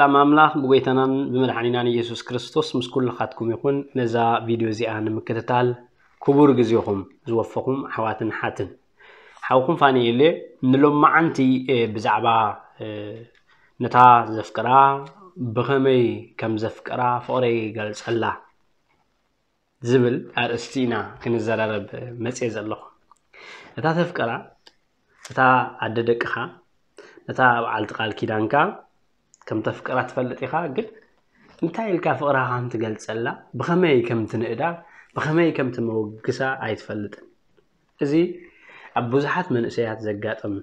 ሰላም ኣምላኽ ብጎይታናን ብመድሓኒናን ኢየሱስ ክርስቶስ ምስ ኩልኻትኩም ይኹን። ነዛ ቪድዮ እዚኣ ንምክትታል ክቡር ግዜኹም ዝወፈኹም ኣሕዋትን ሓትን፣ ሓውኩም ፋኒኤል እየ። ንሎማዓንቲ፣ እ፣ ብዛዕባ፣ እ፣ ነታ ዘፍቅራ ብኸመይ ከም ዘፍቅራ ፍቕረይ ይገልጸላ ዝብል ኣርእስቲ ኢና ክንዘራረብ መጽየ ዘለኹ። እታ ተፍቅራ፣ እታ ኣደ ደቅኻ፣ ነታ በዓልቲ ቃል ኪዳንካ ከም ተፍቅራ ትፈልጥ ኢኻ፣ ግን እንታይ ኢልካ ፍቕርኻ ከም ትገልጸላ፣ ብኸመይ ከም ትንእዳ፣ ብኸመይ ከም ትመወግሳ ኣይትፈልጥን። እዚ ኣብ ብዙሓት መንእሰያት ዘጋጥም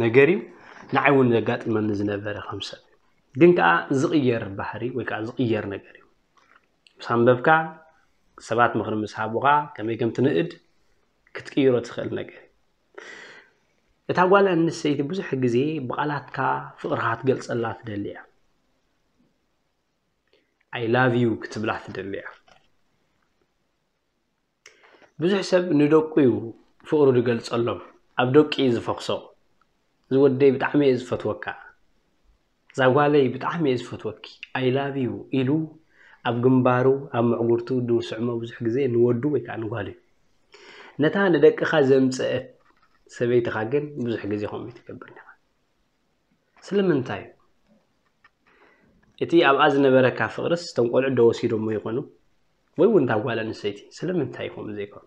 ነገር እዩ። ንዓይ እውን ዘጋጥመኒ ዝነበረ ከም ሰብ። ግን ከኣ ዝቕየር ባህሪ ወይ ከኣ ዝቕየር ነገር እዩ። ምስ ኣንበብካ፣ ሰባት ምኽሪ ምስ ሃቡኻ፣ ከመይ ከም ትንእድ ክትቅይሮ ትኽእል ነገር እዩ። እታ ጓል ኣንስተይቲ ብዙሕ ግዜ ብቓላትካ ፍቕርኻ ክትገልጸላ ትደሊ እያ። "I love you" ክትብላ ትደሊ እያ። ብዙሕ ሰብ ንደቁ እዩ ፍቕሩ ዝገልጸሎም፣ ኣብ ደቂ እዩ ዝፈኽሶ። "እዚ ወደይ ብጣዕሚ እየ ዝፈትወካ፣ እዛ ጓለይ ብጣዕሚ እየ ዝፈትወኪ፣ I love you" ኢሉ ኣብ ግንባሩ፣ ኣብ ምዕጉርቱ ዝስዕሞ ብዙሕ ግዜ ንወዱ ወይ ከዓ ንጓሉ እዩ። ነታ ንደቅኻ ዘምጸአት ሰበይትኻ ግን ብዙሕ ግዜ ከምኡ ትገብር ኢኻ። ስለምንታይ? እቲ ኣብኣ ዝነበረካ ፍቕርስ እቶም ቆልዑ ዶ ወሲዶሞ ይኾኑ? ወይ እውን እታ ጓል ኣንስተይቲ ስለምንታይ ከምኡ ዘይኮኑ?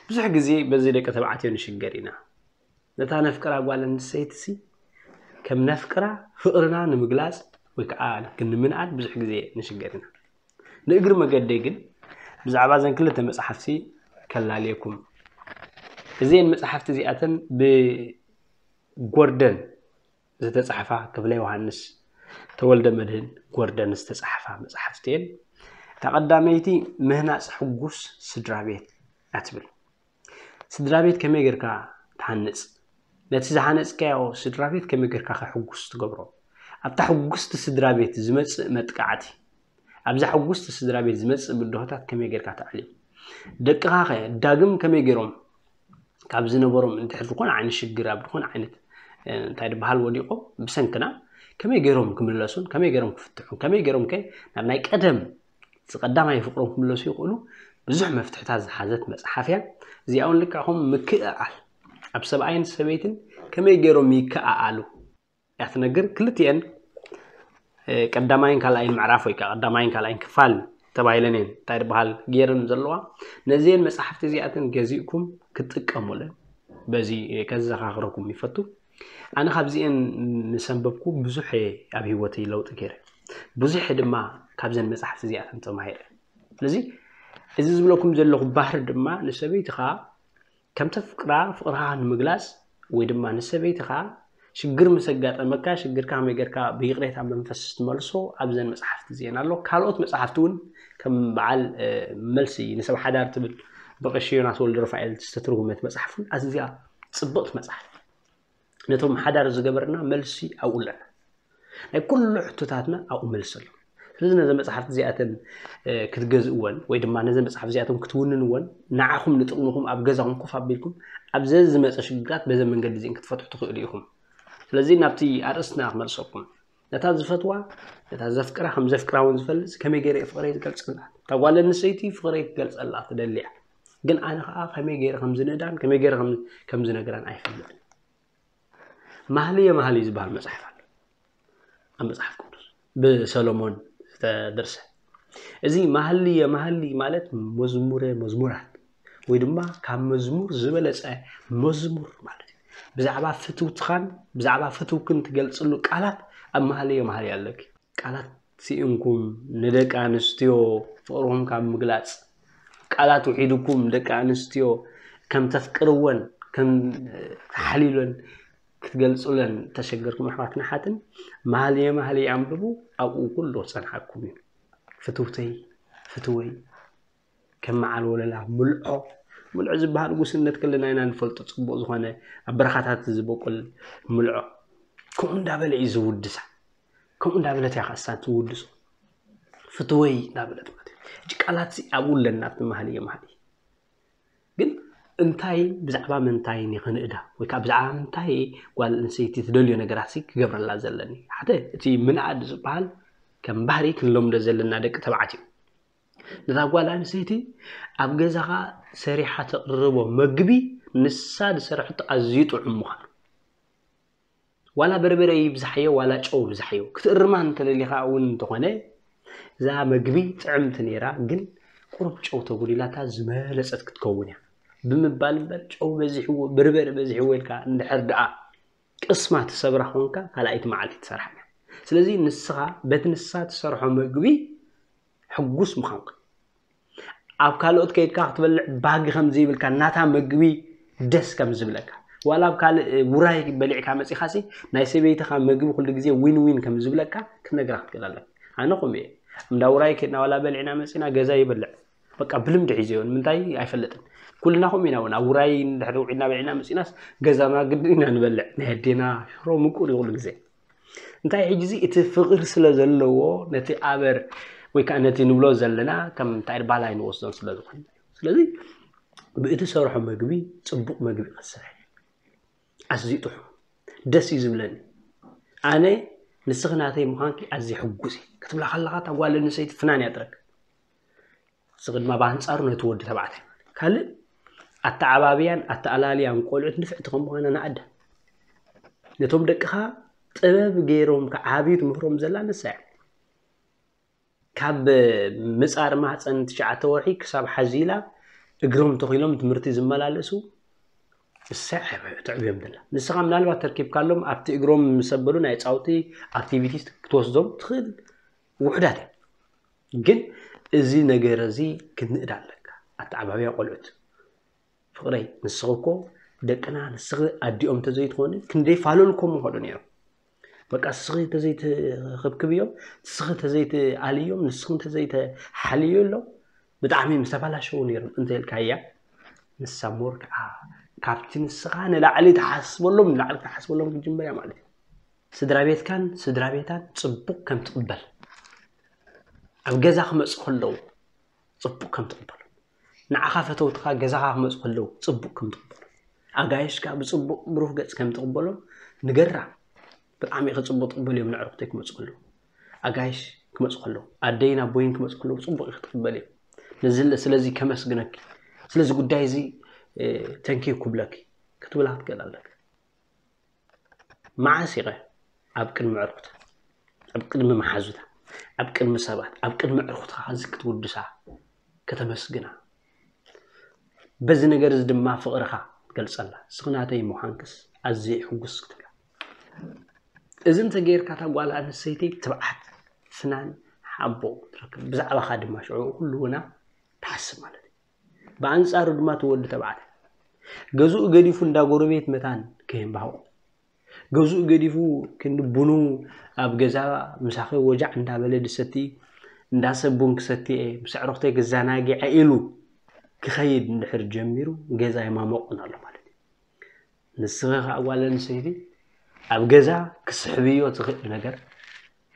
ብዙሕ ግዜ በዚ ደቂ ተባዕትዮ ንሽገር ኢና። ነታ ነፍቅራ ጓል ኣንስተይትሲ ከም ነፍቅራ ፍቕርና ንምግላጽ ወይ ከዓ ንምንኣድ ብዙሕ ግዜ ንሽገር ኢና። ንእግሪ መገደይ ግን ብዛዕባ እዘን ክልተ መጽሓፍቲ ከላልየኩም። እዘን መጽሓፍቲ እዚኣተን ብጎርደን ዝተጻሕፋ፣ ክፍለ ዮሃንስ ተወልደ መድህን ጎርደን ዝተጻሕፋ መጽሓፍቲ እየን። እታ ቀዳመይቲ ምህናጽ ሕጉስ ስድራ ቤት እያ ትብል። ስድራ ቤት ከመይ ጌርካ ትሃንጽ? ነቲ ዝሃነጽካዮ ስድራ ቤት ከመይ ጌርካ ከሕጉስ ትገብሮ? ኣብታ ሕጉስቲ ስድራ ቤት ዝመጽእ መጥቃዕቲ፣ ኣብዛ ሕጉስቲ ስድራ ቤት ዝመጽእ ብድሆታት ከመይ ጌርካ ተዕልዮም? ደቅኻ ኸ ዳግም ከመይ ጌሮም ካብ ዝነበሮም እንድሕር ዝኾነ ዓይነት ሽግር፣ ኣብ ዝኾነ ዓይነት፣ እ፣ እንታይ ዝበሃል ወዲቖም ብሰንክና ከመይ ጌሮም ክምለሱን ከመይ ጌሮም ክፍትሑን ከመይ ጌሮም ከ ናብ ናይ ቀደም እቲ ቀዳማይ ፍቕሮም ክምለሱ ይኽእሉ ብዙሕ መፍትሕታት ዝሓዘት መጽሓፍ እያ። እዚኣ እውን ልክዕ ከምኡ ምክእኣል፣ ኣብ ሰብኣይን ሰበይትን ከመይ ጌሮም ይከኣኣሉ እያ ትነግር። ክልቲኤን፣ እ፣ ቀዳማይን ካልኣይን ምዕራፍ ወይ ከዓ ቀዳማይን ካልኣይን ክፋል ተባሂለን እየን፣ እንታይ ዝበሃል፣ ገይረን ዘለዋ። ነዚአን መጻሕፍቲ እዚኣተን ገዚእኩም ክትጥቀሙለን በዚ፣ እ፣ ከዘኻኽረኩም ይፈቱ። ኣነ ካብዚአን ምስ ኣንበብኩ ብዙሕ እየ ኣብ ህይወተይ ለውጢ ገይረ። ብዙሕ ድማ ካብዘን መጻሕፍቲ እዚኣተን ተማሂረ። ስለዚ እዚ ዝብለኩም ዘለኹ ባህሪ ድማ ንሰበይትኻ ከም ተፍቅራ ፍቕርኻ ንምግላጽ ወይ ድማ ንሰበይትኻ ሽግር ምስ ኣጋጠመካ ሽግርካ ከመይ ጌርካ ብይቕሬታ መንፈስ ትመልሶ ኣብዘን መጻሕፍቲ እዚአን ኣሎ። ካልኦት መጻሕፍቲ እውን ከም በዓል፣ እ፣ መልሲ ንሰብ ሓዳር ትብል ብቐሺ ዮናስ ወልደ ሩፋኤል ዝተተርጉመት መጽሓፍ እውን ኣዝያ ጽብቕቲ መጽሓፍ። ነቶም ሓዳር ዝገበርና መልሲ ኣብኡ ኣለና። ናይ ኩሉ ሕቶታትና ኣብኡ መልሲ ኣሎ። ስለዚ ነዘን መጽሓፍቲ እዚኣተን፣ እ፣ ክትገዝእወን ወይ ድማ ነዘን መጽሓፍ እዚኣቶም ክትውንንወን ንዓኹም ንጥቕምኹም ኣብ ገዛኹም ኮፍ ኣቢልኩም ኣብ ዘዝመጸ ሽግራት በዘ መንገዲ እዚአን ክትፈትሑ ትኽእሉ ኢኹም። ስለዚ ናብቲ ኣርእስትና ክመልሰኩም። ነታ ዝፈትዋ፣ ነታ ዘፍቅራ ከም ዘፍቅራ እውን ዝፈልጥ ከመይ ገይረ እየ ፍቕረይ ዝገልጸላ? እታ ጓል ኣንስተይቲ ፍቕረይ ክገልጸላ ትደሊ እያ። ግን ኣነ ኸኣ ከመይ ገይረ ከም ዝንእዳን ከመይ ገይረ ከም፣ ከም ዝነግራን ኣይፈልጥን። ማህልየ ማህልይ ዝበሃል መጽሓፍ ኣሎ ኣብ መጽሓፍ ቅዱስ ብሰሎሞን ዝተደርሰ። እዚ ማህልየ ማህልይ ማለት መዝሙረ መዝሙራት ወይ ድማ ካብ መዝሙር ዝበለጸ መዝሙር ማለት እዩ። ብዛዕባ ፍትውትኻን ብዛዕባ ፍትውክን ትገልጽሉ ቃላት ኣብ ማህልየ ማህልይ ኣለኪ። ቃላት ስኢንኩም ንደቂ ኣንስትዮ ፍቕርኹም ካብ ምግላጽ፣ ቃላት ውሒድኩም ደቂ ኣንስትዮ ከም ተፍቅርወን ከም ተሓሊለን ክትገልጹለን ተሸገርኩም ኣሕዋትና ሓትን ማህልየ ማህልይ ኣንብቡ፣ ኣብኡ ኩሉ ክጸንሓኩም እዩ። ፍትውተይ፣ ፍትወይ፣ ከም መዓል ወለላ ምልዖ፣ ምልዖ ዝበሃል ጉስነት ከለና ኢና ንፈልጦ፣ ጽቡቕ ዝኾነ ኣብ በረኻታት ዝበቁል ምልዖ። ከምኡ እንዳበለ እዩ ዝውድሳ። ከምኡ እንዳበለት እያ ከኣ እሳ ትውድሶ። ፍትወይ እንዳበለት ማለት እዩ። ሕጂ ቃላት ሲ ኣብኡ ኣለና ኣብቲ ማህልየ ማህልይ። ግን እንታይ ብዛዕባ ምንታይ እየ ክንእዳ ወይ ከዓ ብዛዕባ ምንታይ ጓል ኣንስተይቲ ትደልዮ ነገራት ሲ ክገብረላ ዘለኒ? ሓደ እቲ ምንኣድ ዝበሃል ከም ባህሪ ክንለምዶ ዘለና ደቂ ተባዕት እዩ። ነታ ጓል ኣንስተይቲ ኣብ ገዛኻ ሰሪሓ ተቕርቦ መግቢ ንሳ ዝሰርሐቶ ኣዝዩ ጥዑም ምዃኑ፣ ዋላ በርበረ ይብዛሕዮ ዋላ ጨው ይብዛሕዮ ክትእርማ እንተደሊኻ እውን እንተኾነ፣ እዛ መግቢ ጥዕምቲ ነይራ ግን ቁሩብ ጨው ተጉዲላታ ዝበለጸት ክትከውን እያ ብምባል እምበር፣ ጨው በዚሕዎ በርበረ በዚሕዎ ኢልካ እንድሕር ደኣ ቅስማ ትሰብራ ኮንካ ካልኣይቲ መዓልቲ ትሰርሓ እያ። ስለዚ ንስኻ በቲ ንሳ ትሰርሖ መግቢ ሕጉስ ምዃንካ፣ ኣብ ካልኦት ከይድካ ክትበልዕ ባጊ ከም ዘይብልካ፣ ናታ መግቢ ደስ ከም ዝብለካ፣ ዋላ ኣብ ካልእ ውራይ በሊዕካ መጺኻሲ ናይ ሰበይትኻ መግቢ ኩሉ ግዜ ዊን ዊን ከም ዝብለካ ክትነግራ ክትክእል ኣለካ። ኣነ ከምኡ እየ። እንዳ ውራይ ከድና ዋላ በሊዕና መጺና ገዛ ይበልዕ በቃ ብልምዲ ሒዘዮ ንምንታይ ኣይፈልጥን። ኩልና ከምኡ ኢና እውን ኣብ ውራይ እንድሕር ውዒልና በሊዕና መጺናስ ገዛና ግድን ኢና ንበልዕ። ናይ ኣዴና ሽሮ ምቁር እዩ ኩሉ ግዜ። እንታይ ሕጂ እዚ እቲ ፍቕሪ ስለ ዘለዎ ነቲ ኣበር ወይ ከዓ ነቲ ንብሎ ዘለና ከም እንታይ ባላይ ንወስዶን ስለ ዝኾነ፣ ስለዚ ብእቲ ሰርሖ መግቢ ጽቡቕ መግቢ ክትሰርሕ ኣዝዩ ጥዑም ደስ እዩ ዝብለኒ። ኣነ ንስኺ ናተይ ምዃንኪ ኣዝየ ሕጉስ እየ ክትብላ ከለኻ እታ ጓል ኣንስተይቲ ፍናን እያ ትረክብ። ንስኺ ድማ ብኣንጻሩ ነቲ ወዲ ተባዕታይ ካልእ ኣተዓባብያን ኣተኣላልያን ቆልዑት ንፍዕቲ ከም ምዃና ንኣዳ ነቶም ደቅኻ ጥበብ ገይሮም ክዓብዩ ትምህሮም ዘላ ንሳ እያ። ካብ ምጻር ማህፀን ትሽዓተ ወርሒ ክሳብ ሓዚላ እግሮም ተኺሎም ትምህርቲ ዝመላለሱ እሳ ትዕብዮም ዘላ። ንስኻ ምናልባት ተርኪብካሎም ኣብቲ እግሮም ምስ ኣበሉ ናይ ጻውቲ ኣክቲቪቲስ ክትወስዶም ትኽእል ውሑዳት እዮም። ግን እዚ ነገር እዚ ክንእድ ኣለካ። ኣተዓባብያ ቆልዑት ፍቕረይ ንስኺ እኮ ደቅና ንስኺ ኣዲኦም ተዘይትኾኒ ክንደይ ፋለልኮም ምኾዱ ነይሮም። በቃ ንስኺ ተዘይትኽብክብዮም፣ ንስኺ ተዘይትኣልዮም፣ ንስኺ ተዘይትሓልዮ ኣሎ ብጣዕሚ ምስ ተባላሸው ነይሮም እንተ ኢልካያ ንሳ ሞር ከዓ ካብቲ ንስኻ ንላዕሊ ትሓስበሎም ንላዕሊ ክትሓስበሎም ክትጅምር እያ ማለት እዩ። ስድራ ቤትካን ስድራ ቤታን ጽቡቕ ከም ትቕበል ኣብ ገዛ ክመጹ ከለዉ ጽቡቕ ከም ትቕበሎም፣ ንዓኻ ፈተውትኻ ገዛኻ ክመጹ ከለዉ ጽቡቕ ከም ትቕበሎም፣ ኣጋይሽካ ብጽቡቕ ብሩህ ገጽ ከም ትቕበሎም ንገራ። ብጣዕሚ ኢኺ ጽቡቕ ትቕበልዮም ንዕርኽተይ ክመጹ ከለዉ፣ ኣጋይሽ ክመጹ ከለዉ፣ ኣደይን ኣቦይን ክመጹ ከለዉ ጽቡቕ ኢኺ ትቕበልዮም። ነዚ ስለዚ ከመስግነኪ፣ ስለዚ ጉዳይ እዚ ተንኪዩ ክብለኪ ክትብላ ክትክእል ኣለካ። መዓስ ኢኸ ኣብ ቅድሚ ዕርኩታ፣ ኣብ ቅድሚ መሓዙታ፣ ኣብ ቅድሚ ሰባት፣ ኣብ ቅድሚ ዕርኩትኻ እዚ ክትውድሳ ከተመስግና? በዚ ነገር እዚ ድማ ፍቕርኻ ትገልጸላ። ንስኺ ናተይ ምዃንክስ ኣዝየ ሕጉስ ክትብላ። እዚ እንተገይርካ እታ ጓል ኣንስተይቲ ትብዓት ፍናን ሓቦ ትረክብ። ብዛዕባኻ ድማ ሽዑ ኩሉ ውና ትሓስብ ማለት እዩ። ብኣንጻሩ ድማ እቲ ወዲ ተባዕታይ ገዝኡ ገዲፉ እንዳ ጎረቤት መታን ከየንባህቑ፣ ገዝኡ ገዲፉ ክንዲ ቡኑ ኣብ ገዛ ምሳኺ ወጃዕ እንዳበለ ድሰቲ እንዳሰ ቡን ክሰትየ ምስ ኣዕሩኽተይ ክዘናግዐ ኢሉ ክኸይድ እንድሕር ጀሚሩ ገዛ የማመቑን ኣሎ ማለት እዩ። ንስኺ ከዓ ጓል ኣንስተይቲ ኣብ ገዛ ክስሕብዮ ትኽእል ነገር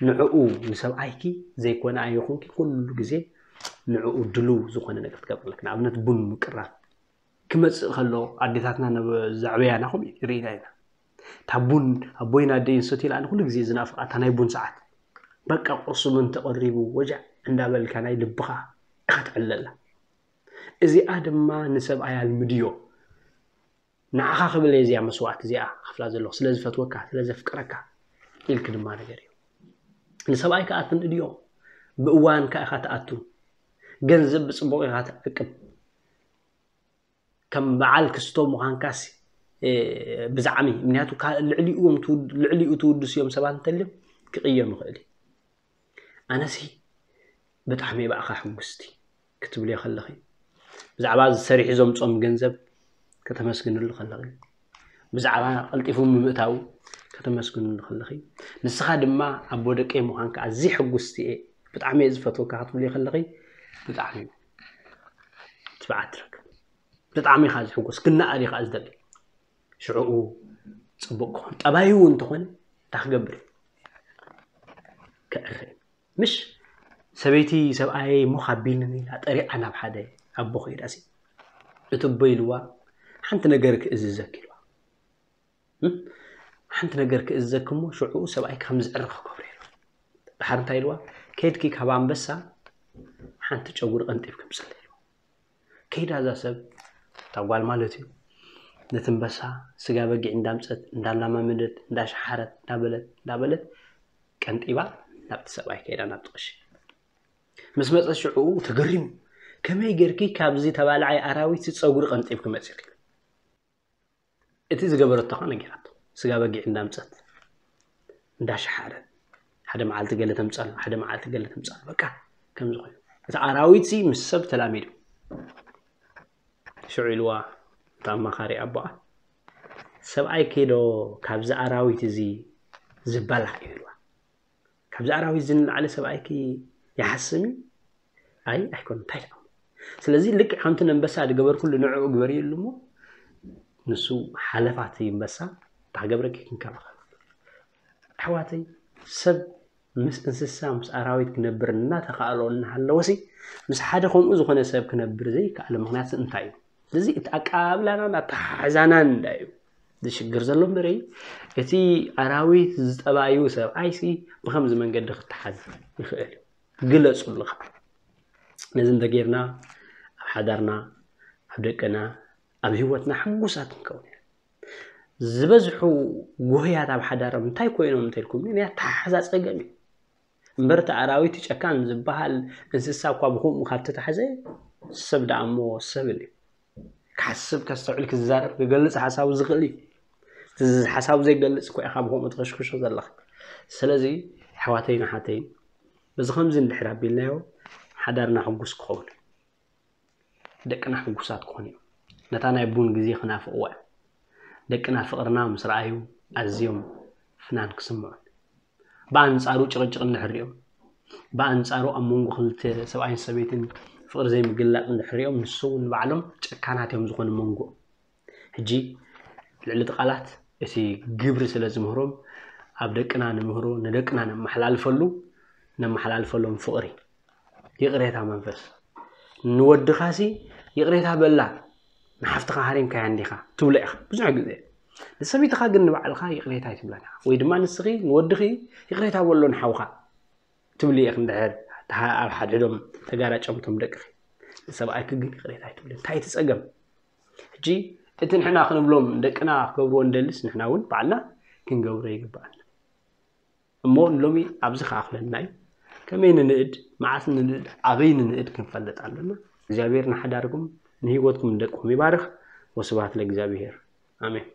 ንዕኡ ንሰብኣይኪ ዘይኮነ ኣይኹንኪ ኩሉ ግዜ ንዕኡ ድልው ዝኾነ ነገር ትገብር ኣለኪ። ንኣብነት ቡን ምቅራብ ክመጽእ ከሎ ኣዴታትና ዘዕበያና ከምኡ ርኢና ኢና። እታ ቡን ኣቦይን ኣደይን ሰትዩላ ኣነ ኩሉ ግዜ ዝናፍቓ እታ ናይ ቡን ሰዓት በቃ ቁርሲ ቡን ተቐሪቡ ወጃዕ እንዳበልካ ናይ ልብኻ ኢኻ ትዕለላ። እዚኣ ድማ ንሰብኣይ ኣልምድዮ። ንዓኻ ክብል እየ እዚኣ መስዋእቲ እዚኣ ክፍላ ዘለኹ ስለ ዝፈትወካ ስለ ዘፍቅረካ ኢልክ ድማ ነገር እዩ። ንሰብኣይ ከዓ ትንእድዮ ብእዋን ከዓ ኢኻ ትኣቱ። ገንዘብ ብፅቡቅ ኢኻ ትዕቅብ። ከም በዓል ክስቶ ምዃንካስ ብዛዕሚ ምክንያቱ ልዕሊኡ ትውድስ እዮም ሰባት እንተልዮም ክቅየም ይኽእል እዩ። ኣነሲ ብጣዕሚ እየ ብኣኻ ሕጉስቲ ክትብልዮ ከለኺ ብዛዕባ ዝሰሪሑ ዘምፆም ገንዘብ ከተመስግንሉ ከለኺ ብዛዕባ ቀልጢፉ ምምእታው ከተመስግንሉ ከለኺ ንስኻ ድማ ኣቦ ደቀይ ምዃንካ ኣዝየ ሕጉስቲ እየ ብጣዕሚ እየ ዝፈትወካ ክትብልዮ ከለኺ ብጣዕሚ ትብዓት ትረክብ። ብጣዕሚ ኢኻ ዝሕጎስ ክነኣድ ኢኻ ዝደሊ። ሽዕኡ ፅቡቅ ክኾን ጠባዩ እውን እንተኾነ እንታይ ክገብር እዩ? ክዕረ እዩ። ምሽ ሰበይቲ ሰብኣየይ ሞኽ ኣቢልኒ ኢላ ጠሪዓ ናብ ሓደ ኣቦ ከይዳሲ እቲ ኣቦ ኢልዋ ሓንቲ ነገር ክእዝዘኪ ኢልዋ። ሓንቲ ነገር ክእዝዘኪ እሞ ሽዑ ሰብኣይ ከም ዝዕርኽ ክገብሮ ኢልዋ። ድሓር እንታይ ኢልዋ? ከይድኪ ካብ ኣንበሳ ሓንቲ ጨጉሪ ቀንጢብ ክምፅል ኢልዋ። ከይዳ እዛ ሰብ፣ እታ ጓል ማለት እዩ፣ ነቲ ኣንበሳ ስጋ በጊዕ እንዳምፀት እንዳላማመደት እንዳሸሓረት እንዳበለት እንዳበለት ቀንጢባ ናብቲ ሰብኣይ ከይዳ ናብቲ ቀሺ ምስ መፀት ሽዑ ተገሪሙ፣ ከመይ ጌርኪ ካብዚ ተባላዓይ ኣራዊት ጸጉሪ ቀንጢብኪ መፂኺ? እቲ ዝገበረቶ ከዓ ነጊራቶ። ስጋ በጊዕ እንዳምፀት እንዳሸሓረት፣ ሓደ መዓልቲ ገለ ተምፀሎ፣ ሓደ መዓልቲ ገለ ተምፀሎ፣ በቃ ከምዚ ኮይኑ እቲ ኣራዊት ሲ ምስ ሰብ ተላሚዱ። ሽዑ ኢልዋ እቲ ኣማኻሪ ኣቦኣ፣ ሰብኣይ ከይዶ ካብዚ ኣራዊት እዚ ዝበላዕ እዩ ኢልዋ። ካብዚ ኣራዊት እዚ ንላዕሊ ሰብኣይኪ ይሓስም እዩ? ኣይ ኣይኮነ፣ እንታይ ደኣ። ስለዚ ልክዕ ከምቲ ነንበሳ ዝገበርኩሉ ንዕኡ ግበርየሉ እሞ ንሱ ሓለፋ እቲ ኣንበሳ እንታይ ክገብረኪ ክንከባኸብ። ኣሕዋተይ፣ ሰብ ምስ እንስሳ ምስ ኣራዊት ክነብር እናተኻእሎ እናሃለወሲ ምስ ሓደ ከምኡ ዝኾነ ሰብ ክነብር ዘይከኣለ ምክንያት እንታይ እዩ? ስለዚ እቲ ኣቀባብላናን ኣተሓሕዛናን እንዳ እዩ ዝሽግር ዘሎ እምበረይ እቲ ኣራዊት ዝጠባዩ ሰብኣይሲ ብኸምዚ መንገዲ ክተሓዝ ይኽእል እዩ። ግለፁሉ ከዓ። ነዚ እንተጌርና ኣብ ሓዳርና፣ ኣብ ደቅና፣ ኣብ ህይወትና ሕጉሳት ክንከውን ኢና። ዝበዝሑ ጉህያት ኣብ ሓዳሮም እንታይ ኮይኖም እንተልኩም ናይ ኣተሓሕዛ ፀገም እዩ። እምበር እቲ ኣራዊት ጨካን ዝበሃል እንስሳ እኳ ብከምኡ ካብ ተታሕዘ ሰብ ደኣ እሞ ሰብን እዩ። ክሓስብ ከስተውዕል ክዛረብ ክገልፅ ሓሳቡ ዝኽእል እዩ። እቲ ሓሳቡ ዘይገልፅ እኮ ኢኻ ብከምኡ ትኸሽክሾ ዘለኻ። ስለዚ ኣሕዋተይን ኣሓተይን በዚ ከምዚ እንድሕር ኣቢልናዮ ሓዳርና ሕጉስ ክኸውን እዩ። ደቅና ሕጉሳት ክኾኑ እዮም። ነታ ናይ ቡን ግዜ ክናፍቕዋ እዮም። ደቅና ፍቕርና ምስ ረኣዩ ኣዝዮም ፍናን ክስምዑን ብኣንጻሩ ጭቕጭቕ እንድሕር ሪኦም ብኣንጻሩ ኣብ መንጎ ክልተ ሰብኣይን ሰበይትን ፍቕሪ ዘይምግላጥ እንድሕር ሪኦም ንሱ እውን ንባዕሎም ጨካናት እዮም ዝኾኑ መንጎ። ሕጂ ልዕሊ እቲ ቃላት እቲ ግብሪ ስለ ዝምህሮም ኣብ ደቅና ንምህሮ ንደቅና ነመሓላልፈሉ ነመሓላልፈሎም ፍቕሪ ይቕሬታ መንፈስ ንወድኻሲ ይቕሬታ በላ ንሓፍትኻ ሃሪምካያ እንዲኻ ትብሎ ኢኻ ብዙሕ ግዜ ንሰበይትኻ ግን ንባዕልኻ ይቕሬታ ኣይትብላን ኢኻ ወይ ድማ ንስኺ ንወድኺ ይቕሬታ በሎ ንሓውኻ ትብሊ ኢኺ እንድሕር ኣብ ሓድሕዶም ተጋራጨምቶም ደቅኺ ንሰብኣይኪ ግን ይቕሬታ ኣይትብሊ እንታይ እቲ ጸገም ሕጂ እቲ ንሕና ክንብሎም ደቅና ክገብርዎ እንደልስ ንሕና እውን ባዕልና ክንገብሮ ይግባኣና እሞ ንሎሚ ኣብዚ ከኣኽለና እዩ ከመይ ንንእድ መዓስ ንንእድ ኣበይ ንንእድ ክንፈልጥ ኣለና እግዚኣብሔር ንሓዳርኩም ንህይወትኩም ንደቅኹም ይባርኽ ወስብሃት ለእግዚኣብሔር ኣሜን